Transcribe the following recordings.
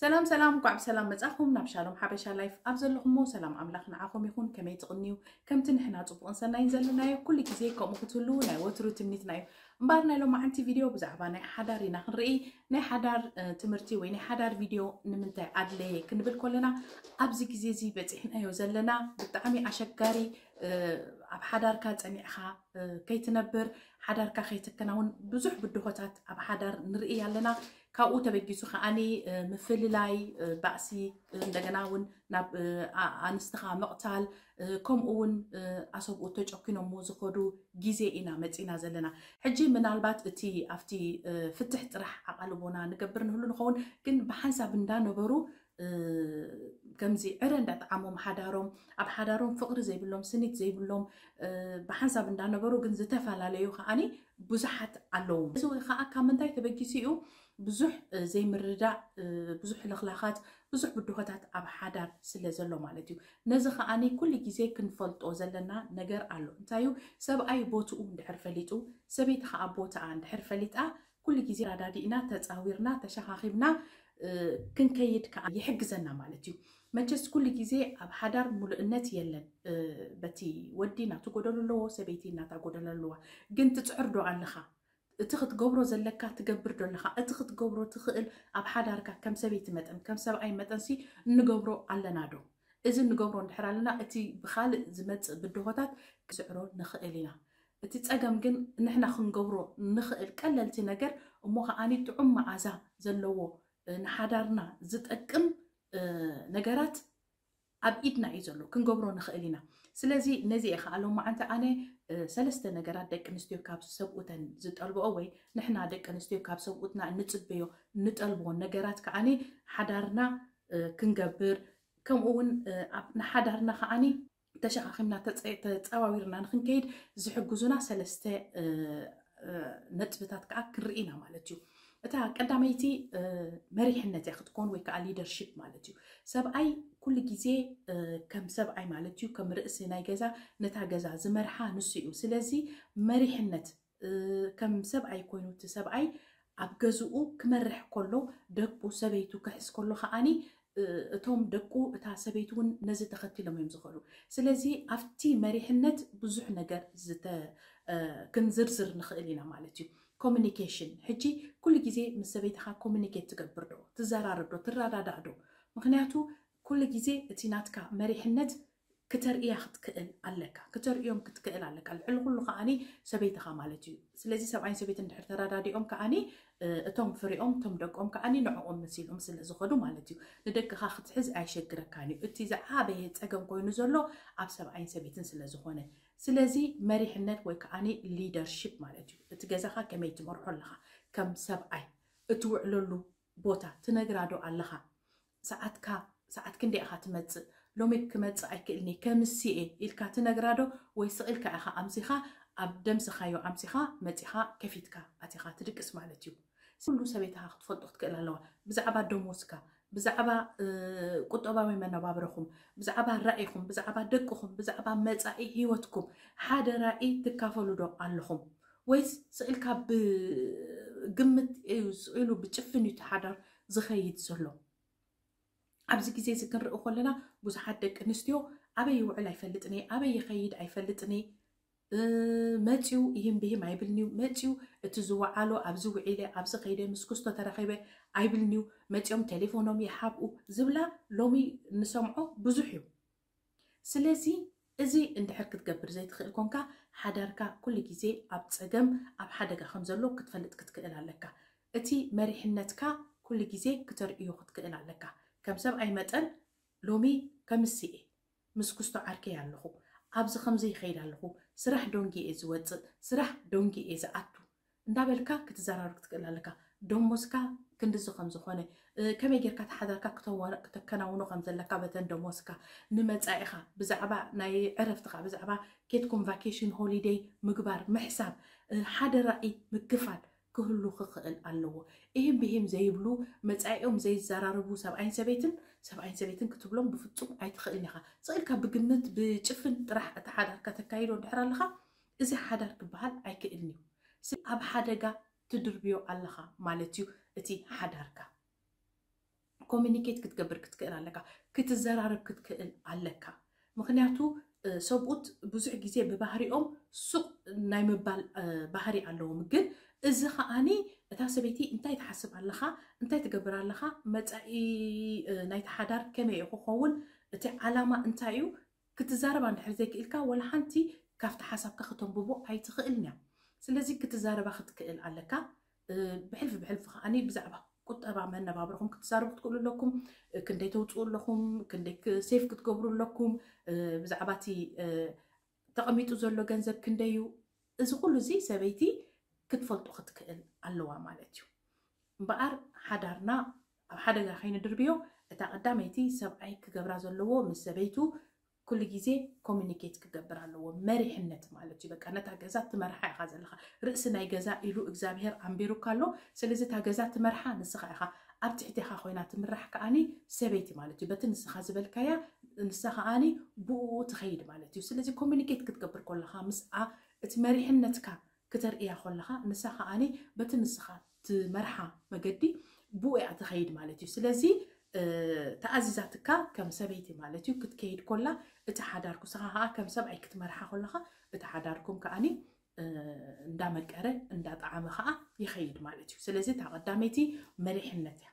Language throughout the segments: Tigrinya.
ሰላም ሰላም፣ እንኳዕ ብሰላም መጻኹም ናብ ሻሎም ሓበሻ ላይፍ። ኣብ ዘለኹሞ ሰላም ኣምላኽ ንዓኹም ይኹን። ከመይ ትቕንዩ? ከምቲ ንሕና ጽቡቕን ሰናይን ዘለናዮ ኩሉ ግዜ ከምኡ ክትህሉ ናይ ወትሩ ትምኒትና እዩ። እምበኣር ናይ ሎማዓንቲ ቪድዮ ብዛዕባ ናይ ሓዳር ኢና ክንርኢ። ናይ ሓዳር ትምህርቲ ወይ ናይ ሓዳር ቪድዮ ንምንታይ ኣድለየ ክንብል ከለና፣ ኣብዚ ግዜ እዚ በጺሕናዮ ዘለና ብጣዕሚ ኣሸጋሪ፣ ኣብ ሓዳርካ ጸኒዕኻ ከይትነብር፣ ሓዳርካ ከይትከናውን ብዙሕ ብድሆታት ኣብ ሓዳር ንርኢ ኣለና። ካብኡ ተበጊሱ ከዓኒ ምፍልላይ፣ ባእሲ፣ እንደገና እውን ናብ ኣንስትኻ ምቕታል፣ ከምኡ እውን ኣሰብኡ ተጨኪኖሞ ዝኸዱ ግዜ ኢና መፂና ዘለና። ሕጂ ምናልባት እቲ ኣብቲ ፍትሕ ጥራሕ ኣቓልቦና ንገብር ንህሉ ንኸውን፣ ግን ብሓንሳብ እንዳነበሩ ከምዚ ዕረ እንዳጠዓሞም ሓዳሮም፣ ኣብ ሓዳሮም ፍቕሪ ዘይብሎም፣ ስኒት ዘይብሎም፣ ብሓንሳብ እንዳነበሩ ግን ዝተፈላለዩ ከዓኒ ብዙሓት ኣለዉ። እዚ ከዓ ካብ ምንታይ ተበጊሱ እዩ? ብዙሕ ዘይምርዳእ፣ ብዙሕ ልኽላኻት፣ ብዙሕ ብድሆታት ኣብ ሓዳር ስለ ዘሎ ማለት እዩ። ነዚ ከዓኒ ኩሉ ግዜ ክንፈልጦ ዘለና ነገር ኣሎ። እንታይ እዩ? ሰብኣይ ቦትኡ እንድሕር ፈሊጡ፣ ሰበይቲ ከዓ ቦትኣ እንድሕር ፈሊጣ፣ ኩሉ ግዜ ኣረዳዲእና፣ ተጻዊርና፣ ተሸኻኺብና ክንከይድ ከዓ ይሕግዘና ማለት እዩ። መቸስ ኩሉ ግዜ ኣብ ሓዳር ሙሉእነት የለን። በቲ ወዲ ናቱ ጎደሎ ኣለዎ፣ ሰበይቲ ናታ ጎደሎ ኣለዋ። ግን ትጽዕር ዶ ኣለኻ? እቲ ክትገብሮ ዘለካ ትገብር ዶ ኣለኻ? እቲ ክትገብሮ ትኽእል ኣብ ሓዳርካ ከም ሰበይቲ መጠን፣ ከም ሰብኣይ መጠንሲ እንገብሮ ኣለና ዶ? እዚ እንገብሮ እንድሕር ኣለና፣ እቲ ብኻልእ ዝመጽእ ብድሆታት ክስዕሮ ንኽእል ኢና። እቲ ጸገም ግን ንሕና ክንገብሮ ንኽእል ቀለልቲ ነገር እሞ ከዓኒ ጥዑም መዓዛ ዘለዎ፣ ንሓዳርና ዝጠቅም ነገራት ኣብ ኢድና እዩ ዘሎ፣ ክንገብሮ ንኽእል ኢና። ስለዚ ነዚ እየ ከዓ ሎማዓንቲ ኣነ ሰለስተ ነገራት ደቂ ኣንስትዮ ካብ ሰብኡተን ዝጠልብኦ ወይ ንሕና ደቂ ኣንስትዮ ካብ ሰብኡትና እንጽበዮ፣ እንጠልብዎ ነገራት ከዓኒ ሓዳርና ክንገብር፣ ከምኡ እውን ኣብ ንሓዳርና ከዓኒ ተሸኻኺምና ተጸ-፣ ተጸዋዊርና ንኽንከይድ ዝሕግዙና ሰለስተ ነጥብታት ከዓ ክንርኢ ኢና ማለት እዩ። እታ ቀዳመይቲ መሪሕነት እያ ክትኮን ወይ ከዓ ሊደርሺፕ ማለት እዩ። ሰብኣይ ኩሉ ግዜ ከም ሰብኣይ ማለት እዩ፣ ከም ርእሲ ናይ ገዛ ነታ ገዛ ዝመርሓ ንሱ እዩ። ስለዚ መሪሕነት ከም ሰብኣይ ኮይኑ እቲ ሰብኣይ ኣብ ገዝኡ ክመርሕ ከሎ፣ ደቁ ሰበይቱ ክሕዝ ከሎ ከዓኒ እቶም ደቁ እታ ሰበይቲ እውን ነዚ ተኸቲሎም እዮም ዝኸዱ። ስለዚ ኣብቲ መሪሕነት ብዙሕ ነገር ዝተ-፣ ክንዝርዝር ንኽእል ኢና ማለት እዩ። ኮሚኒኬሽን፣ ሕጂ ኩሉ ግዜ ምስ ሰበይትኻ ኮሚኒኬት ትገብር ዶ? ትዘራረብ ዶ? ትረዳዳእ ዶ? ምኽንያቱ ኩሉ ግዜ እቲ ናትካ መሪሕነት ክተርእያ ክትክእል ኣለካ፣ ክተርእዮም ክትክእል ኣለካ። ልዕሊ ኩሉ ከዓኒ ሰበይትኻ ማለት እዩ። ስለዚ ሰብኣይን ሰበይትን እንድሕር ተረዳዲኦም ከዓኒ እቶም ፍሬኦም፣ እቶም ደቆም ከዓኒ ንዕኦም መሲሎም ስለ ዝኸዱ ማለት እዩ። ንደቅኻ ክትሕዝ ኣይሸግረካን እዩ። እቲ ዝዓበየ ጸገም ኮይኑ ዘሎ ኣብ ሰብኣይን ሰበይትን ስለ ዝኾነ። ስለዚ መሪሕነት ወይ ከዓኒ ሊደርሺፕ ማለት እዩ። እቲ ገዛኻ ከመይ ትመርሖ ኣለኻ? ከም ሰብኣይ እትውዕለሉ ቦታ ትነግራ ዶ ኣለኻ? ሰዓትካ፣ ሰዓት ክንደይ ኢኻ ትመጽእ? ሎሚ ክመጽእ ኣይክእልኒ፣ ከምስኤ ኢልካ ትነግራ ዶ? ወይ ስቕ ኢልካ ኢኻ ኣምሲኻ፣ ኣብ ደምስኻዮ ኣምሲኻ መጺኻ ከፊትካ ኣቲኻ ትድቅስ ማለት እዩ። ኩሉ ሰበይትኻ ክትፈልጦ ክትክእል ኣለዋ። ብዛዕባ ደሞዝካ፣ ብዛዕባ ቁጠባዊ መነባብሮኹም፣ ብዛዕባ ራኢኹም፣ ብዛዕባ ደቅኹም፣ ብዛዕባ መጻኢ ህይወትኩም ሓደ ራኢ ትካፈሉ ዶ ኣለኹም? ወይስ ስቕ ኢልካ ብግምት እዩ፣ ስቕ ኢሉ ብጭፍን እዩ እቲ ሓዳር ዝኸይድ ዘሎ? ኣብዚ ግዜ እዚ ክንርኢ ከለና ብዙሓት ደቂ ኣንስትዮ ኣበይ ይውዕል ኣይፈልጥን እየ፣ ኣበይ ይኸይድ ኣይፈልጥን እየ፣ መፅዩ ይህም ብህም ኣይብልንዩ፣ መፅዩ እቲ ዝወዓሎ ኣብዚ ውዒለ፣ ኣብዚ ከይደ፣ ምስ ክስቶ ተረኺበ ኣይብልንዩ፣ መፅዮም ቴሌፎኖም ይሓብኡ ዝብላ ሎሚ ንሰምዖ ብዙሕ እዩ። ስለዚ እዚ እንድሕር ክትገብር ዘይትኽእል ኮንካ፣ ሓዳርካ ኩሉ ግዜ ኣብ ጸገም፣ ኣብ ሓደጋ ከም ዘሎ ክትፈልጥ ክትክእል ኣለካ። እቲ መሪሕነትካ ኩሉ ግዜ ክተርእዮ ክትክእል ኣለካ። ከም ሰብኣይ መጠን ሎሚ ከምስኤ ምስ ክስቶ ዓርከይ ኣለኹ፣ ኣብዚ ከምዚ ይኸይድ ኣለኹ፣ ስራሕ ደንጉየ እየ ዝወጽእ፣ ስራሕ ደንጉየ እየ ዝኣቱ። እንዳበልካ ክትዘራረብ ክትክእል ኣለካ። ደሞዝካ ክንድዚ ከም ዝኾነ፣ እ፣ ከመይ ጌርካ እቲ ሓዳርካ ክተዋ-፣ ክተከናውኖ ከም ዘለካ በተን ደሞዝካ፣ ንመጻኢኻ፣ ብዛዕባ ናይ ዕረፍትኻ፣ ብዛዕባ ኬድኩም ቫኬሽን ሆሊደይ ምግባር፣ ምሕሳብ፣ እ፣ ሓደ ራኢ ምክፋል ክህሉ ክኽእል ኣለዎ። እሂም ብሂም ዘይብሉ፣ መጻኢኦም ዘይዘራረቡ ሰብኣይን ሰበይትን፣ ሰብኣይን ሰበይትን ክትብሎም ብፍጹም ኣይትኽእልን ኢኻ። ስቕ ኢልካ ብግምት፣ ብጭፍን ጥራሕ እቲ ሓዳርካ ተካይዶ እንድሕር ኣለኻ፣ እዚ ሓዳር ክበሃል ኣይክእልን እዩ። ስ-፣ ኣብ ሓደጋ ትድርብዮ ኣለኻ ማለት እዩ እቲ ሓዳርካ። ኮሚኒኬት ክትገብር ክትክእል ኣለካ፣ ክትዘራረብ ክትክእል ኣለካ። ምክንያቱ ሰብኡት ብዙሕ ግዜ ብባህሪኦም ሱቕ ናይ ምባል ባህሪ ኣለዎም። ግን እዚ ከዓኒ እታ ሰበይቲ እንታይ ትሓስብ ኣለኻ፣ እንታይ ትገብር ኣለኻ፣ መፃኢ ናይቲ ሓዳር ከመይ ክኸውን፣ እቲ ዓላማ እንታይ እዩ፣ ክትዛረባ እንድሕር ዘይክእልካ ወላ ሓንቲ ካብቲ ሓሳብካ ክተንብቦ ኣይትኽእልን እያ። ስለዚ ክትዛረባ ክትክእል ኣለካ። ብሕልፊ ብሕልፊ ከዓኒ ብዛዕባ ቁጠባ መነባብርኹም ክትዛረቡ ክትክእሉ ኣለኩም። ክንደይ ተውፅኡ ኣለኹም፣ ክንደይ ሴፍ ክትገብሩ ኣለኩም፣ ብዛዕባ እቲ ተቐሚጡ ዘሎ ገንዘብ ክንደይ እዩ፣ እዚ ኩሉ እዚ ሰበይቲ ክትፈልጦ ክትክእል ኣለዋ ማለት እዩ። እምበኣር ሓዳርና ኣብ ሓደጋ ከይንድርብዮ እታ ቀዳመይቲ ሰብኣይ ክገብራ ዘለዎ ምስ ሰበይቱ ኩሉ ግዜ ኮሚኒኬት ክገብር ኣለዎ። መሪሕነት ማለት እዩ። በቃ ነታ ገዛ ትመርሓ ኢኻ ዘለኻ። ርእሲ ናይ ገዛ ኢሉ እግዚኣብሔር ኣንቢሩካ ኣሎ። ስለዚ እታ ገዛ ትመርሓ ንስኻ ኢኻ። ኣብ ትሕቴኻ ኮይና ትምራሕ ከዓኒ ሰበይቲ ማለት እዩ። በቲ ንስኻ ዝበልካያ ንሳ ከዓኒ ብኡ ትኸይድ ማለት እዩ። ስለዚ ኮሚኒኬት ክትገብር ከለኻ ምስኣ እቲ መሪሕነትካ ክተርእያ ከለኻ ንሳ ከዓኒ በቲ ንስኻ ትመርሓ መገዲ ብኡ እያ ትኸይድ ማለት እዩ። ስለዚ ተኣዚዛትካ ከም ሰበይቲ ማለት እዩ ክትከይድ ኮላ እቲ ሓዳርኩ ንስኻ ከዓ ከም ሰብኣይ ክትመርሓ ከለኻ እቲ ሓዳርኩም ከዓኒ እንዳመቀረ እንዳጣዓመ ከዓ ይኸይድ ማለት እዩ። ስለዚ እታ ቀዳመይቲ መሪሕነት እያ።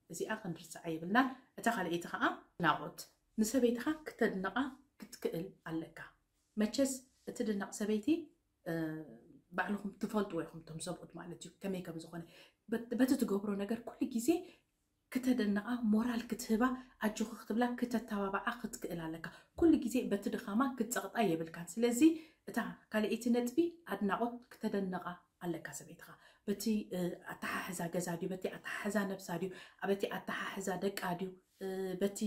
እዚኣ ክንርስዓ የብልናን። እታ ካልኣይቲ ከዓ ናቆት ንሰበይትኻ ክተድንቓ ክትክእል ኣለካ። መቸስ እትድነቕ ሰበይቲ ባዕልኹም ትፈልጥዎ ኢኹም፣ እቶም ሰብኡት ማለት እዩ ከመይ ከም ዝኾነ። በቲ ትገብሮ ነገር ኩሉ ግዜ ክተደንቓ፣ ሞራል ክትህባ፣ ኣጆኺ ክትብላ፣ ክተተባብዓ ክትክእል ኣለካ። ኩሉ ግዜ በቲ ድኻማ ክትጸቕጣ የብልካን። ስለዚ እታ ካልኣይቲ ነጥቢ ኣድናቖት ክተደንቓ ኣለካ ሰበይትኻ። በቲ ኣተሓሕዛ ገዛ ድዩ፣ በቲ ኣተሓሕዛ ነብሳ ድዩ፣ በቲ ኣተሓሕዛ ደቃ ድዩ፣ በቲ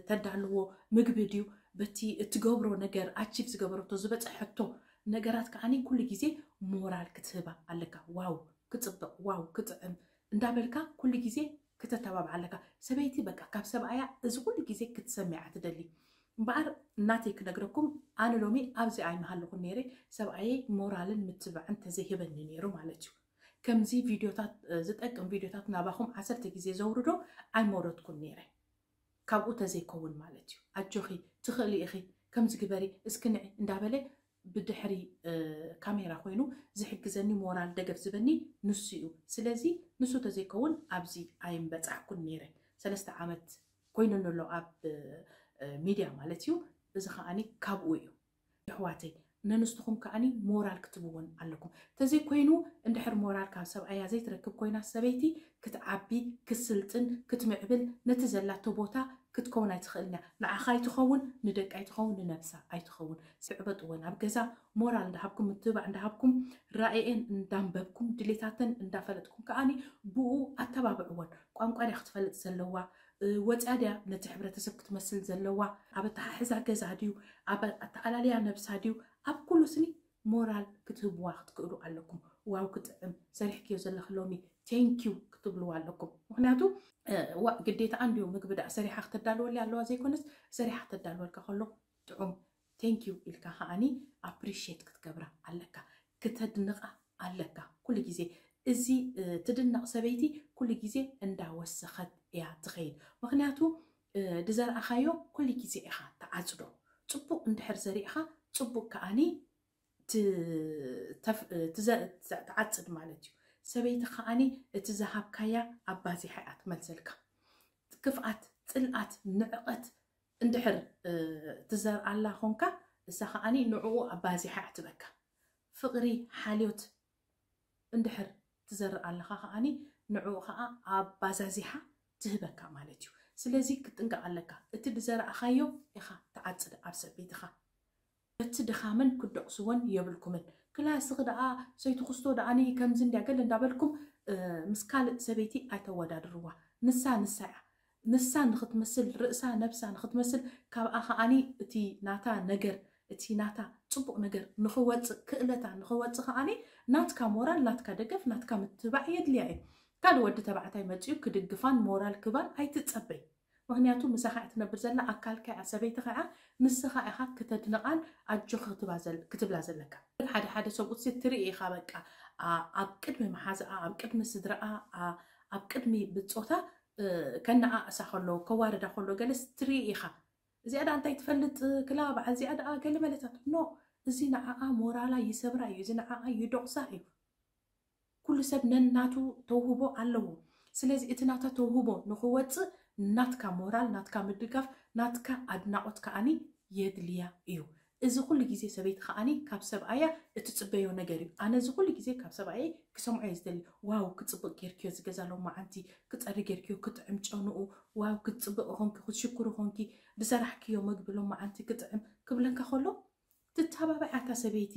ተዳልዎ ምግቢ ድዩ፣ በቲ እትገብሮ ነገር፣ ኣቺቭ ዝገበረቶ ዝበፀሐቶ ነገራት ከዓኒ ኩሉ ግዜ ሞራል ክትህባ ኣለካ። ዋው ክፅብቕ፣ ዋው ክጥዕም እንዳበልካ ኩሉ ግዜ ክተተባብዓ ኣለካ። ሰበይቲ በቃ ካብ ሰብኣያ እዚ ኩሉ ግዜ ክትሰምዓ ትደሊ። እምበኣር እናተይ ክነግረኩም፣ ኣነ ሎሚ ኣብዚ ኣይምሃለኹን ነይረ፣ ሰብኣየይ ሞራልን ምትብባዕን ተዘይህበኒ ነይሩ ማለት እዩ። ከምዚ ቪድዮታት ዝጠቅም ቪድዮታት ናባኹም ዓሰርተ ግዜ ዘውርዶ ኣይመውረድኩን ነይረ። ካብኡ ተዘይከውን ማለት እዩ። ኣጆኺ ትኽእሊ ኢኺ፣ ከምዚ ግበሪ፣ እስኪ ንዒ እንዳበለ ብድሕሪ ካሜራ ኮይኑ ዝሕግዘኒ፣ ሞራል ደገፍ ዝበኒ ንሱ እዩ። ስለዚ ንሱ ተዘይከውን ኣብዚ ኣይምበፃሕኩን ነይረ። ሰለስተ ዓመት ኮይኑኒ ኣሎ ኣብ ሚድያ ማለት እዩ። እዚ ከዓኒ ካብኡ እዩ። ኣሕዋተይ፣ ነንስትኹም ከዓኒ ሞራል ክትብወን ኣለኩም። ተዘይኮይኑ እንድሕር ሞራል ካብ ሰብኣያ ዘይትረክብ ኮይና ሰበይቲ ክትዓቢ፣ ክትስልጥን፣ ክትምዕብል ነቲ ዘላቶ ቦታ ክትከውን ኣይትኽእልን እያ። ንዓኻ ኣይትኸውን፣ ንደቂ ኣይትኸውን፣ ንነብሳ ኣይትኸውን። ስዕበጥወን ኣብ ገዛ ሞራል እንዳሃብኩም፣ ምትብባዕ እንዳሃብኩም፣ ራእየን እንዳንበብኩም፣ ድሌታተን እንዳፈለጥኩም ከዓኒ ብኡ ኣተባብዕወን። ቋንቋ ድያ ክትፈልጥ ዘለዋ፣ ወፅያ ድያ ነቲ ሕብረተሰብ ክትመስል ዘለዋ፣ ኣብ ኣተሓሕዛ ገዛ ድዩ፣ ኣብ ኣተኣላልያ ነብሳ ድዩ፣ ኣብ ኩሉ ስኒ ሞራል ክትህብዋ ክትክእሉ ኣለኩም። ዋው ክጥዕም ሰሪሕክዮ ዘለኺ ሎሚ ቴንኪዩ ክትብልዋ ኣለኩም። ምክንያቱ ዋ ግዴታ እንድዩ ምግቢ ደኣ ሰሪሓ ክተዳልወልያ ኣለዋ ዘይኮነስ ሰሪሓ ክተዳልወልካ ከሎ ጥዑም ቴንኪዩ ኢልካ ከዓኒ ኣፕሪሽት ክትገብራ ኣለካ፣ ክተድንቓ ኣለካ። ኩሉ ግዜ እዚ ትድነቕ ሰበይቲ ኩሉ ግዜ እንዳወሰኸት እያ ትኸይድ። ምክንያቱ ዝዘርኣኻዮ ኩሉ ግዜ ኢኻ ትዓጽዶ። ጽቡቕ እንድሕር ዘሪእኻ ጽቡቕ ከዓኒ ትዓጽድ ማለት እዩ። ሰበይቲ ከዓኒ እቲ ዝሃብካያ ኣባዚሓ እያ ትመልሰልካ። ክፍኣት፣ ጽልኣት፣ ንዕቐት እንድሕር ትዘርኣላ ኾንካ እሳ ከዓኒ ንዕኡ ኣባዚሓ እያ ትበካ። ፍቕሪ፣ ሓልዮት እንድሕር ትዘርእ ኣለኻ ከዓኒ ንዕኡ ከዓ ኣባዛዚሓ ትህበካ ማለት እዩ። ስለዚ ክትጥንቀቕ ኣለካ። እቲ ዝዘራእኻዮ ኢኻ ትዓጽድ ኣብ ሰበይትኻ። በቲ ድኻመን ክትደቕስወን የብልኩምን። ክላስኺ ደኣ ሰይቲ ክስቶ ደኣኒ ከምዚ እንድያ ገለ እንዳበልኩም ምስ ካልእ ሰበይቲ ኣይተወዳድርዋ። ንሳ ንሳ እያ። ንሳ ንኽትመስል፣ ርእሳ ነብሳ ንኽትመስል፣ ካብኣ ከዓኒ እቲ ናታ ነገር፣ እቲ ናታ ጽቡቕ ነገር ንኽወጽእ፣ ክእለታ ንኽወጽእ ከዓኒ ናትካ ሞራል፣ ናትካ ደገፍ፣ ናትካ ምትባዕ የድልያ እዩ። ካልእ ወዲ ተባዕታይ መጺኡ ክድግፋን ሞራል ክባን ኣይትጸበይ። ምክንያቱ ምሳኻ እያ ትነብር ዘላ፣ ኣካልካ እያ፣ ሰበይትኻ እያ፣ ንስኻ ኢኻ ክተድንቓን ኣጆኺ ክትባ ዘል-፣ ክትብላ ዘለካ። ግን ሓደ ሓደ ሰብኡት ሲ ትርኢ ኢኻ በቃ፣ ኣ-፣ ኣብ ቅድሚ መሓዝኣ፣ ኣብ ቅድሚ ስድራኣ፣ ኣ-፣ ኣብ ቅድሚ ብጾታ ከነኣእሳ ከሎ፣ ከዋርዳ ከሎ ገለስ ትርኢ ኢኻ። እዚኣ ደኣ እንታይ ትፈልጥ ክላ በዓል እዚኣ ደኣ ገለ መለታት። ኖ፣ እዚ ንዓኣ ሞራላ ይሰብራ እዩ፣ እዚ ንዓኣ ይዶቕሳ እዩ። ኩሉ ሰብ ነናቱ ተውህቦ ኣለዎ። ስለዚ እቲ ናታ ተውህቦ ንኽወፅእ ናትካ ሞራል፣ ናትካ ምድጋፍ፣ ናትካ ኣድናቖት ከኣኒ የድልያ እዩ። እዚ ኩሉ ግዜ ሰበይቲ ከኣኒ ካብ ሰብኣያ እትፅበዮ ነገር እዩ። ኣነ እዚ ኩሉ ግዜ ካብ ሰብኣየይ ክሰምዖ እየ ዝደሊ። ዋው፣ ክፅብቕ ጌርክዮ፣ ዝገዛ ሎማዓንቲ ክፀሪ ጌርክዮ፣ ክጥዕም ጨንኡ፣ ዋው፣ ክትፅብቕ ኾንኪ፣ ክትሽኩር ኾንኪ፣ ዝሰራሕክዮ መግቢ ሎማዓንቲ ክጥዕም ክብለካ ከሎ፣ ትተባባዕ እታ ሰበይቲ።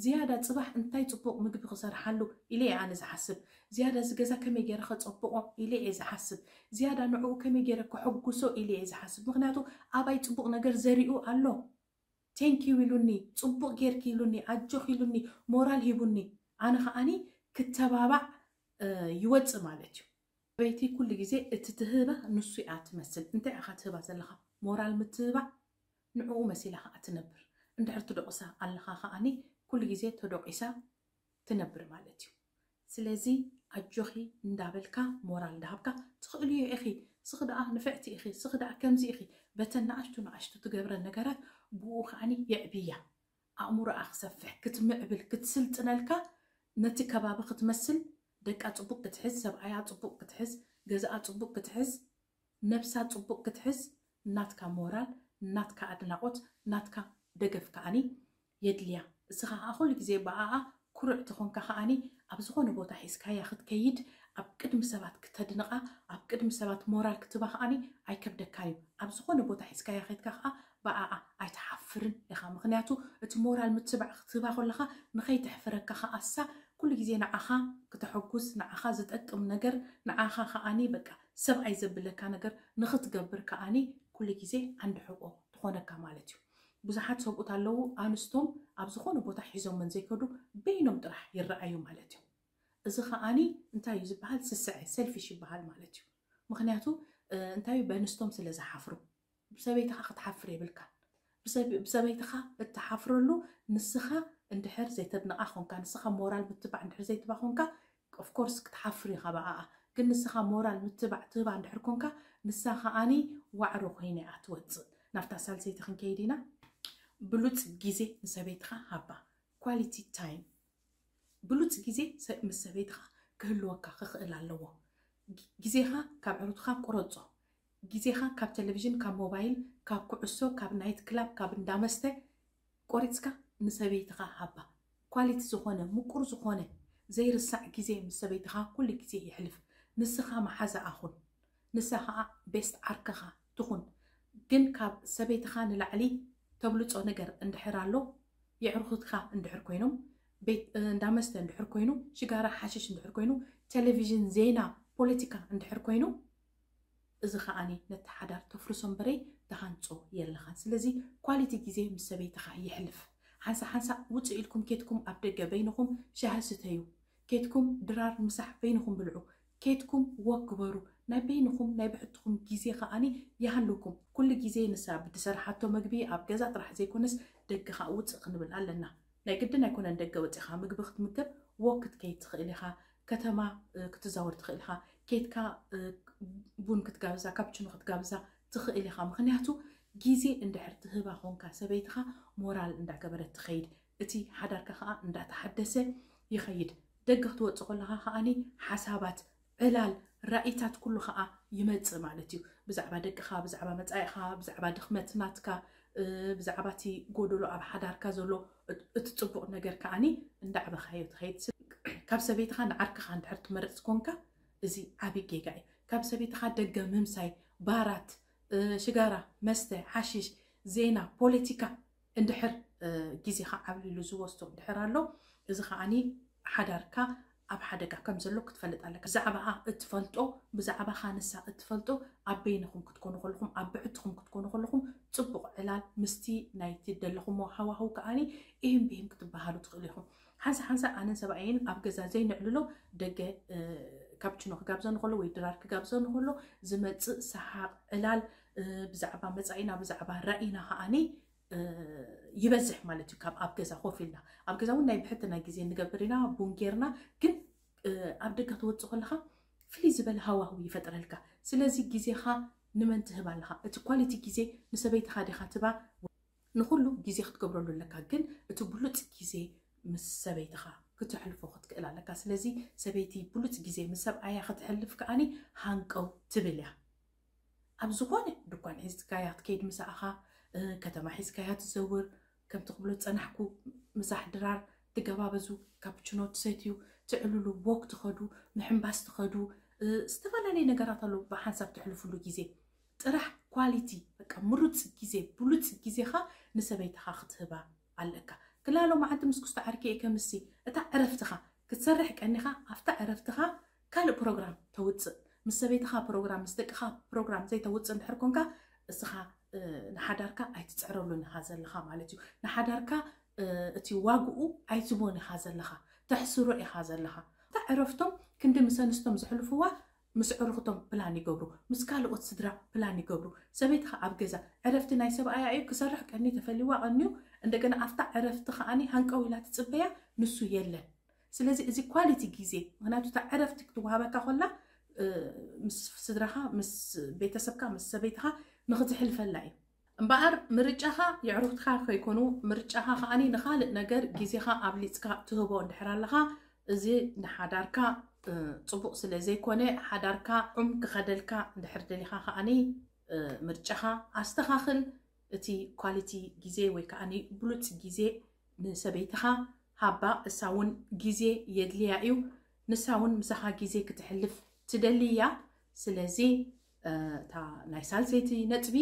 ዝያዳ ጽባሕ እንታይ ጽቡቕ ምግቢ ክሰርሓሉ ኢለ እየ ኣነ ዝሓስብ። ዝያዳ እዚ ገዛ ከመይ ገይረ ከጸብቖ ኢለ እየ ዝሓስብ። ዝያዳ ንዕኡ ከመይ ገይረ ከሐጉሶ ኢለ እየ ዝሓስብ። ምኽንያቱ ኣባይ ጽቡቕ ነገር ዘሪኡ ኣሎ። ቴንኪዩ ኢሉኒ፣ ጽቡቕ ጌርኪ ኢሉኒ፣ ኣጆኺ ኢሉኒ፣ ሞራል ሂቡኒ። ኣነ ከኣኒ ክተባባዕ፣ እ፣ ይወጽእ ማለት እዩ። ሰበይቲ ኩሉ ግዜ እቲ ትህባ ንሱ እያ ትመስል። እንታይ ኢኻ ትህባ ዘለኻ? ሞራል ምትህባዕ ንዕኡ መሲላ ኸዓ ትነብር። እንድሕር ትደቑሳ ኣለኻ ኸኣኒ ኩሉ ግዜ ተደቂሳ ትነብር ማለት እዩ። ስለዚ ኣጆኺ እንዳበልካ ሞራል እንዳሃብካ፣ ትኽእልዮ ኢኺ፣ ስኺ ደኣ ንፍዕቲ ኢኺ፣ ስኺ ደኣ ከምዚ ኢኺ፣ በተን ንኣሽቱ ንኣሽቱ ትገብረን ነገራት ብኡ ኸኣኒ የዕብያ። ኣእምሮኣ ክሰፍሕ፣ ክትምዕብል፣ ክትስልጥነልካ፣ ነቲ ከባቢ ክትመስል፣ ደቃ ጽቡቕ ክትሕዝ፣ ሰብኣያ ጽቡቕ ክትሕዝ፣ ገዛኣ ጽቡቕ ክትሕዝ፣ ነብሳ ጽቡቕ ክትሕዝ፣ ናትካ ሞራል፣ ናትካ ኣድናቖት፣ ናትካ ደገፍ ከኣኒ የድልያ። እስኻ ኸኣ ኩሉ ግዜ ብኣኣ ኩሩዕ ተኾንካ ከኣኒ ኣብ ዝኾነ ቦታ ሒዝካያ ክትከይድ፣ ኣብ ቅድሚ ሰባት ክተድንቓ፣ ኣብ ቅድሚ ሰባት ሞራል ክትባ ከኣኒ ኣይከብደካን እዩ። ኣብ ዝኾነ ቦታ ሒዝካያ ከይድካ ከኣ ብኣኣ ኣይትሓፍርን ኢኻ። ምኽንያቱ እቲ ሞራል ምትባዕ ክትህባ ከለኻ ንኸይተሕፍረካ ከኣ እሳ ኩሉ ግዜ ንዓኻ ክተሐጉስ፣ ንዓኻ ዝጠቅም ነገር፣ ንዓኻ ከኣኒ በቃ ሰብኣይ ዘብለካ ነገር ንኽትገብር ከኣኒ ኩሉ ግዜ ዓንዲ ሕቆ ትኾነካ ማለት እዩ። ብዙሓት ሰብኡት ኣለዉ፣ ኣንስቶም ኣብ ዝኾነ ቦታ ሒዞመን ዘይከዱ በይኖም ጥራሕ ይረኣዩ ማለት እዩ። እዚ ከኣኒ እንታይ እዩ ዝበሃል? ስስዐ፣ ሰልፊሽ ይበሃል ማለት እዩ። ምኽንያቱ፣ እ፣ እንታይ እዩ? በንስቶም ስለ ዝሓፍሩ። ብሰበይትኻ ክትሓፍር የብልካን። ብሰብ-፣ ብሰበይትኻ እትሓፍረሉ ንስኻ እንድሕር ዘይተድንቓ ኾንካ፣ ንስኻ ሞራል ምትባዕ እንድሕር ዘይትባ ኾንካ፣ of course ክትሓፍር ኢኻ ብኣኣ። ግን ንስኻ ሞራል ምትባዕ ትህባ እንድሕር ኮንካ፣ ንሳ ከኣኒ ዋዕሮ ኮይና እያ ትወጽእ። ናብታ ሳልሰይቲ ክንከይድ ኢና። ብሉጽ ግዜ ንሰበይትኻ ሃባ። ኳሊቲ ታይም። ብሉጽ ግዜ ሰ-፣ ምስ ሰበይትኻ ክህልወካ ክኽእል ኣለዎ። ግ-፣ ግዜኻ ካብ ዕሩትኻ ቁረጾ። ግዜኻ ካብ ቴሌቪዥን፣ ካብ ሞባይል፣ ካብ ኩዕሶ፣ ካብ ናይት ክላብ፣ ካብ እንዳመስተ ቆሪጽካ ንሰበይትኻ ሃባ። ኳሊቲ ዝኾነ፣ ምቁር ዝኾነ፣ ዘይርሳዕ ግዜ ምስ ሰበይትኻ ኩሉ ግዜ የሕልፍ። ንስኻ መሓዛኣ ኩን። ንሳ ኸኣ ቤስት ዓርክኻ ትኹን። ግን ካብ ሰበይትኻ ንላዕሊ ተብልጾ ነገር እንድሕር ኣሎ፣ የዕሩኽትካ እንድሕር ኮይኖም፣ ቤት፣ እንዳመስተ እንድሕር ኮይኑ፣ ሽጋራ ሓሽሽ እንድሕር ኮይኑ፣ ቴሌቪዥን፣ ዜና፣ ፖለቲካ እንድሕር ኮይኑ፣ እዚ ኸኣኒ ነቲ ሓዳር ተፍርሶ እምበረይ ትሃንጾ የለኻን። ስለዚ ኳሊቲ ግዜ ምስ ሰበይትኻ የሕልፍ። ሓንሳ ሓንሳ ውጽእ ኢልኩም ኬድኩም ኣብ ደገ በይንኹም ሻሂ ስተዩ። ኬድኩም ድራር ምሳሕ በይንኹም ብልዑ። ኬድኩም ወክ ግበሩ። ናይ በይንኹም ናይ ብሕትኹም ግዜ ኸኣኒ ይሃልውኩም። ኩሉ ግዜ ንሳ ብትሰርሓቶ መግቢ ኣብ ገዛ ጥራሕ ዘይኮነስ ደገ ኸኣ ውጽእ ክንብል ኣለና። ናይ ግድን ኣይኮነን ደገ ወጺኻ ምግቢ ክትምገብ፣ ወክ ክትከይድ ትኽእል ኢኻ፣ ከተማ፣ እ፣ ክትዛወር ትኽእል ኢኻ፣ ኬድካ፣ እ፣ ቡን ክትጋብዛ፣ ካፕችኖ ክትጋብዛ ትኽእል ኢኻ። ምኽንያቱ ግዜ እንድሕር ትህባ ኾንካ ሰበይትኻ ሞራል እንዳገበረት ትኸይድ፣ እቲ ሓዳርካ ኸኣ እንዳተሓደሰ ይኸይድ። ደገ ክትወጽእ ከለኻ ኸኣኒ ሓሳባት፣ ዕላል፣ ራኢታት ኩሉ ኸኣ ይመጽእ ማለት እዩ። ብዛዕባ ደቅኻ፣ ብዛዕባ መጻኢኻ፣ ብዛዕባ ድኽመት ናትካ፣ እ፣ ብዛዕባ እቲ ጎደሎ ኣብ ሓዳርካ ዘሎ፣ እት-፣ እቲ ጽቡቕ ነገር ከኣኒ እንዳዕበኻዮ ትኸይድ። ካብ ሰበይትኻ ንዓርክኻ እንድሕር ትመርጽ ኮንካ፣ እዚ ዓቢ ጌጋ እዩ። ካብ ሰበይትኻ ደገ ምምሳይ፣ ባራት፣ እ፣ ሽጋራ፣ መስተ፣ ሓሽሽ፣ ዜና፣ ፖለቲካ፣ እንድሕር፣ እ፣ ግዜኻ ዓብሊሉ ዝወስዶ እንድሕር ኣሎ፣ እዚ ኸኣኒ ሓዳርካ ኣብ ሓደጋ ከም ዘሎ ክትፈልጥ ኣለካ። ብዛዕባኣ እትፈልጦ፣ ብዛዕባኻ ንሳ እትፈልጦ፣ ኣብ በይንኹም ክትኮኑ ከለኹም፣ ኣብ ብሕትኹም ክትኮኑ ከለኹም፣ ጽቡቕ ዕላል ምስቲ ናይቲ ደለኹሞ ሃዋህው ከኣኒ ኢሂም ብሂም ክትበሃሉ ትኽእሉ ኢኹም። ሓንሳ ሓንሳ ኣነን ሰብኣየይን ኣብ ገዛ ዘይንዕልሎ፣ ደገ፣ እ፣ ካፕችኖ ክጋብዘኒ ከሎ ወይ ድራር ክጋብዘኒ ከሎ ዝመጽእ ሰሓቕ፣ ዕላል፣ እ፣ ብዛዕባ መጻኢና፣ ብዛዕባ ራኢና ከኣኒ እ፣ ይበዝሕ ማለት እዩ። ካብ ኣብ ገዛ ኮፍ ኢልና፣ ኣብ ገዛ እውን ናይ ብሕትና ግዜ ንገብር ኢና፣ ቡን ጌርና፣ ግን፣ እ፣ ኣብ ደገ ትወጽእ ከለኻ ፍልይ ዝበለ ሃዋህው ይፈጥረልካ። ስለዚ ግዜኻ ንመን ትህብ ኣለኻ? እቲ ኳሊቲ ግዜ ንሰበይትኻ ዲኻ ትባ? ንኹሉ ግዜ ክትገብረሉ ኣለካ፣ ግን እቲ ብሉፅ ግዜ ምስ ሰበይትኻ ክተሕልፎ ክትክእል ኣለካ። ስለዚ ሰበይቲ ብሉፅ ግዜ ምስ ሰብኣያ ክትሕልፍ ከኣኒ ሃንቀው ትብል እያ። ኣብ ዝኾነ ድኳን ሒዝካያ ክትከይድ፣ ምሳኻ ከተማ ሒዝካያ ትዘውር፣ ከምቲ ክብሎ ዝፀናሕኩ ምሳሕ ድራር ትገባበዙ፣ ካፕችኖ ትሰትዩ፣ ትዕልሉ፣ ቦክ ትኸዱ፣ ምሕምባስ ትኸዱ፣ ዝተፈላለየ ነገራት ኣሎ ብሓንሳብ ትሕልፍሉ ግዜ። ጥራሕ ኳሊቲ፣ በቃ ምሩፅ ግዜ፣ ብሉፅ ግዜኻ ንሰበይትኻ ክትህባ ኣለካ። ክላሎ መዓልቲ ምስ ኩስቶ ዓርኪ እየ ከምሲ፣ እታ ዕረፍትኻ ክትሰርሕ ቀኒኻ፣ ኣብታ ዕረፍትኻ ካልእ ፕሮግራም ተውፅእ። ምስ ሰበይትኻ ፕሮግራም፣ ምስ ደቅኻ ፕሮግራም ዘይተውፅእ እንድሕር ኮንካ፣ እስኻ ንሓዳርካ ኣይትፅዕረሉን ኢኻ ዘለኻ ማለት እዩ። ንሓዳርካ እቲ ዋግኡ ኣይትቦን ኢኻ ዘለኻ፣ ተሕስሮ ኢኻ ዘለኻ። እታ ዕረፍቶም ክንዲ ምስ ኣንስቶም ዝሕልፍዋ ምስ ዕሩኽቶም ፕላን ይገብሩ፣ ምስ ካልኦት ስድራ ፕላን ይገብሩ። ሰበይትኻ ኣብ ገዛ ዕረፍቲ ናይ ሰብኣያ እዩ፣ ክሰርሕ ቀኒ ተፈሊዋ ቀንዩ፣ እንደገና ኣብታ ዕረፍቲ ከኣኒ ሃንቀው ኢላ ትፅበያ፣ ንሱ የለን። ስለዚ እዚ ኳሊቲ ግዜ፣ ምክንያቱ እታ ዕረፍቲ ክትወሃበካ ኮላ ምስ ስድራኻ፣ ምስ ቤተሰብካ፣ ምስ ሰበይትኻ ንክትሕልፈላ እዩ። እምበኣር ምርጫኻ የዕሩኽትኻ ከይኮኑ፣ ምርጫኻ ከኣኒ ንኻልእ ነገር ግዜኻ ኣብሊፅካ ትህቦ እንድሕር ኣለኻ፣ እዚ ንሓዳርካ ፅቡቕ ስለ ዘይኮነ፣ ሓዳርካ ዑም ክኸደልካ እንድሕር ደሊኻ ከኣኒ ምርጫኻ ኣስተኻኽል። እቲ ኳሊቲ ግዜ ወይ ከኣኒ ብሉፅ ግዜ ንሰበይትኻ ሃባ፣ እሳ እውን ግዜ የድልያ እዩ። ንሳ እውን ምሳኻ ግዜ ክትሕልፍ ትደሊ እያ። ስለዚ እታ ናይ ሳልሰይቲ ነጥቢ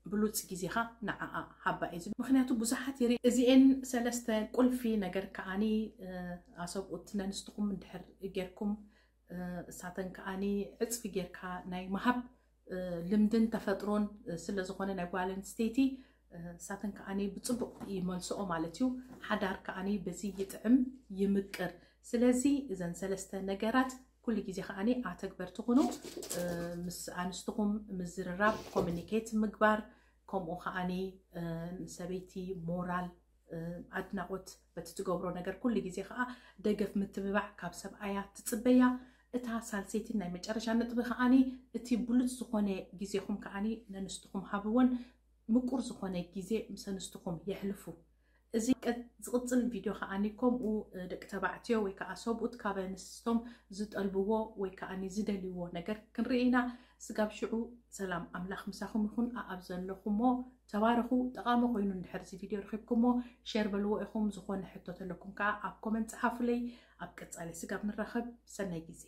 ብሉፅ ግዜኻ ንዓኣ ሃባ እዩ ዝብል። ምክንያቱ ብዙሓት ይርኢ። እዚኤን ሰለስተ ቁልፊ ነገር ከዓኒ ኣሰብኡት ነንስትኹም እንድሕር ጌርኩም፣ እሳተን ከዓኒ ዕፅፊ ጌርካ ናይ ምሃብ ልምድን ተፈጥሮን ስለ ዝኾነ ናይ ጓል ኣንስተይቲ፣ እሳተን ከዓኒ ብፅቡቕ ይመልስኦ ማለት እዩ። ሓዳር ከዓኒ በዚ ይጥዕም ይምቅር። ስለዚ እዘን ሰለስተ ነገራት ኩሉ ግዜ ከዓኒ ኣተግበርቲ ኩኑ። ምስ ኣንስትኹም ምዝርራብ፣ ኮሚኒኬት ምግባር፣ ከምኡ ከዓኒ ንሰበይቲ ሞራል፣ ኣድናቖት በቲ ትገብሮ ነገር ኩሉ ግዜ ከዓ ደገፍ ምትብባዕ ካብ ሰብኣያ ትፅበያ። እታ ሳልሰይትን ናይ መጨረሻ ነጥቢ ከዓኒ እቲ ብሉፅ ዝኾነ ግዜኹም ከዓኒ ነንስትኹም ሃብወን፣ ምቁር ዝኾነ ግዜ ምስ ኣንስትኹም የሕልፉ። እዚ ዝቕፅል ቪድዮ ከዓኒ ከምኡ ደቂ ተባዕትዮ ወይ ከዓ ሰብኡት ካብ ኣንስቶም ዝጠልብዎ ወይ ከዓኒ ዝደልይዎ ነገር ክንርኢ ኢና። ስጋብ ሽዑ ሰላም ኣምላኽ ምሳኹም ይኹን። ኣኣብ ዘለኹሞ ተባረኹ። ጠቓሚ ኮይኑ እንድሕር እዚ ቪድዮ ረኺብኩሞ ሼር በልዎ ኢኹም። ዝኾነ ሕቶ ተለኩም ከዓ ኣብ ኮመንት ፀሓፉለይ። ኣብ ቀፃሊ ስጋብ ንራኸብ ሰናይ ግዜ።